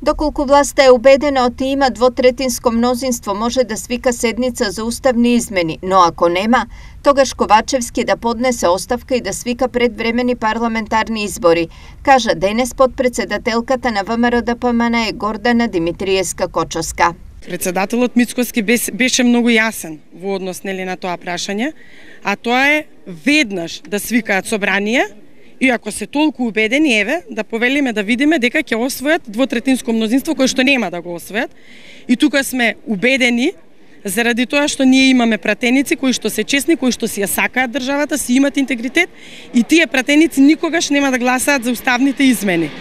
Доколку власта е убедена од има двотретинско мнозинство може да свика седница за уставни измени, но ако нема, тогаш Ковачевски да поднесе оставка и да свика предвремени парламентарни избори, кажа денес подпредседателката на ВМРО-ДПМН Гордана Димитриевска-Кочовска. Председателот Мицкоски беше многу јасен во однос на тоа прашање, а тоа е веднаш да свикаат собрание и ако се толку убедени, еве, да повелиме да видиме дека ќе освојат двотретинско мнозинство кое што нема да го освојат. И тука сме убедени заради тоа што ние имаме пратеници кои што се честни, кои што си ја сакаат државата, си имат интегритет и тие пратеници никогаш нема да гласаат за уставните измени.